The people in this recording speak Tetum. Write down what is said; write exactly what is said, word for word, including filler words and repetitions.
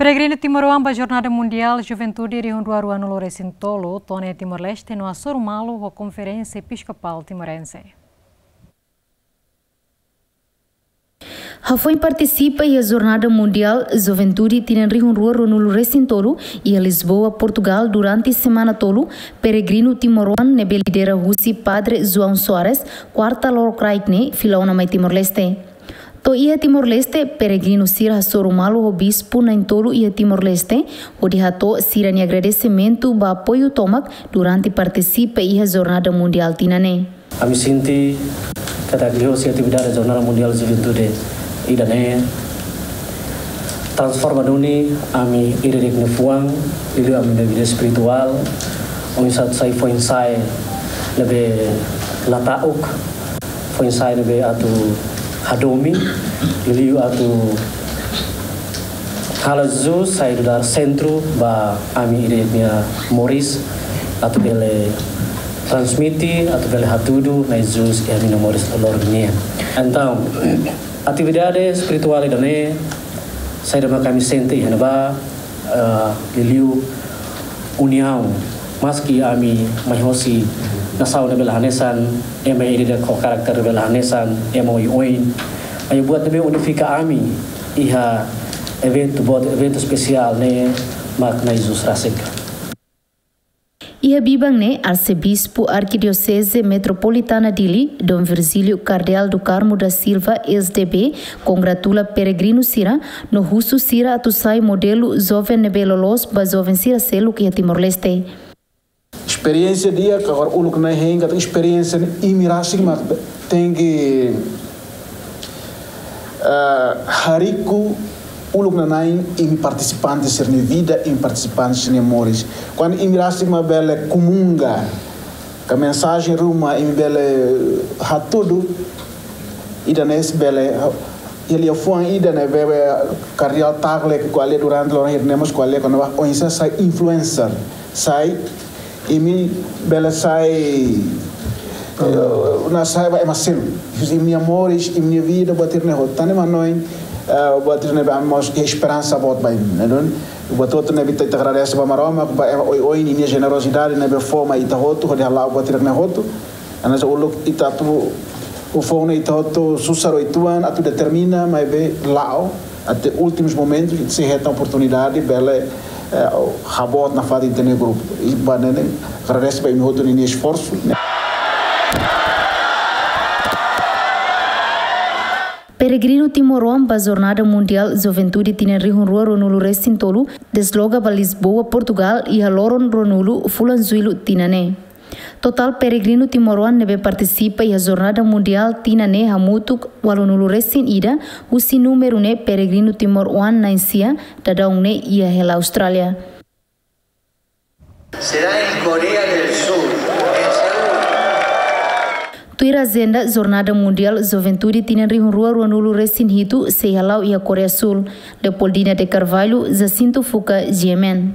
Peregrinu timoroan ba Jornada Mundiál Juventude rihun rua ruanulu resin tolu to'o iha Timor-Leste no hasoru malu ho Konferénsia Episkopál Timorense. Hafoin partisipa iha Jornada Mundiál Juventude tinan rihun rua ruanulu resin tolu iha Lisboa, Portugal, durante semana tolu, peregrinu timoroan ne'ebé lidera husi Padre João Soares, kuarta lorokraik ne'e, fila ona mai Timor-Leste. To'o iha Timor-Leste, peregrinu sira hasoru malu ho bispu na'in-tolu iha Timor-Leste, hodi hato'o sira-nia agradesimentu ba apoiu tomak durante partisipa iha Jornada Mundiál tinan ne'e. Ami sente katak liuhusi atividade Jornada Mundiál Juventude ida-ne'e transforma duni ami ida-idak nia fuan, liuliu ami-nia vida espirituál, oinsá atu sai foin-sa'e ne'ebé la ta'uk, foin-sa'e ne'ebé atu hadomi, liuliu atu halo Jesus sai nu'udar sentru ba ami ida-idak nia moris, atu bele transmite, atu bele hatudu Na'i Jesus iha ami-nia moris loroloron nian. Entaun, atividade espirituál ida-ne'e, saida mak ami sente iha ne'ebá, eh, liuliu uniaun. Maski ami mai hosi nasaun ne'ebé la hanesan, ema ida-idak ho karakter ne'ebé la hanesan, ema oioin. Maibé buat ne'ebé unifika ami iha eventu boot, eventu espesiál ne'e mak Na'i Jesus rasik. Iha biban ne'e, Arsebispu Arkidioseze Metropolitana Dili, Dom Virgílio Kardeál do Carmo da Silva, S D B, kongratula peregrinu sira, no husu sira atu sai modelu joven ne'ebé loloos ba joven sira seluk iha Timor-Leste. Esperiénsia di'ak, agora uluk na'in hein katak esperiénsia ne'e imi rasik mak tenke, eh, hariku uluk nanain imi partisipante sira-nia vida, imi partisipante sira-nia moris. Kuandu imi rasik mak bele komunga, ka mensajen ruma imi bele hatudu, ida-ne'e sei bele, iha liafuan ida ne'ebé Kardeál Tagle ko'alia durante loron hirak ne'e mós ko'alia kona-ba oinsá sai influencer, sai imi bele sai, eh, ona sai ba ema seluk. Imi-nia moris, imi-nia vida, buat sira-ne'e hotu. Tan ne'e mak ohin, eh, buat sira-ne'e ba mós esperansa boot ba imi, ne'e duni. Buat hotu ne'ebé ita, ita agradese ba Maromak, ba ema oioin ninia jenerozidade ne'ebé fó mai ita hotu, hodi hala'o buat sira-ne'e hotu. Hanesan uluk ita atu, uluk foun ne'e ita hotu susar uitoan atu determina, maibé la'o, até últimus momentus, ita sei hetan oportunidade, bele, eh, haboot nafatin ita-nia grupu. I ba ne'e ne'e, agradese ba imi hotu ninia esforsu. Peregrinu timoroan ba Jornada Mundiál Juventude tinan rihun rua ruanulu resin tolu, desloga ba Lisboa, Portugal, iha loron ruanulu fulan Jullu tinan ne'e. Totál peregrinu timoroan ne'ebé partisipa iha Jornada Mundiál tinan ne'e hamutuk ualunulu resin ida, husi númeru ne'e peregrinu timoroan na'in-sia, daudaun ne'e iha hela Austrália. Será en Corea del Sur, en Seúl. Tuir ajenda, Jornada Mundiál Juventude tinan rihun rua ruanulu resin hitu sei hala'o iha Koreia Súl. Leopoldina de Carvalho, Jacinto Fuca, G M N.